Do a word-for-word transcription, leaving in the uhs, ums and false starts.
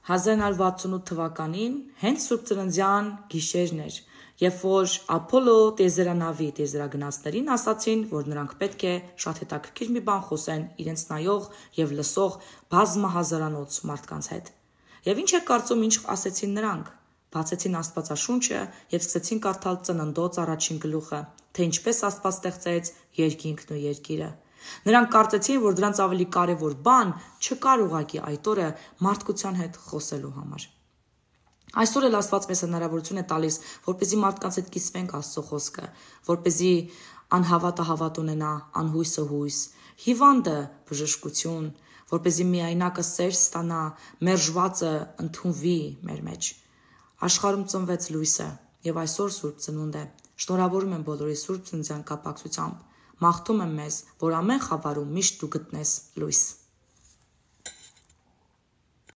հազար նոր վաթսունութ թվականին հենց Սուրբ Ծննդյան գիշերն էր, երբ որ Ափոլո տիեզերանավի տիեզերագնացներին ասացին, որ նրանք պետք է շատ հետաքրքիր մի բան խոսեն իրենց նայող եւ լսող բազմահազարանոց մարդկանց հետ։ Եվ ինչ է կարծում, ինչ ասեցին նրանք։ Բացեցին Աստվածաշունչը եւ սկսեցին կարդալ Ծննդոց առաջին գլուխը, թե ինչպես Աստված ստեղծեց երկինքն ու երկիրը։ Նրանք կարծեցին, որ դրանց ավելի կարևոր բան չկար ուղղակի այդ օրը մարդկության հետ խոսելու համար։ Այսօր էլ Աստված մեզ հնարավորություն է տալիս, որպեսզի մարդկանց հետ կիսվենք Աստծո խոսքը, որպեսզի անհավատը հավատ ունենա, անհույսը հույս, հիվանդը բժշկություն, որպեսզի միայնակը սեր ստանա, մերժվածը ընդունվի մեր մեջ։ Աշխարհում ծնվեց լույսը, եւ այսօր Սուրբ Ծնունդ է։ Շնորհավորում եմ բոլորի Սուրբ Ծննդյան կապակցությամբ։ Մաղթում եմ մեզ, որ ամեն խավարում միշտ դու գտնես լույս։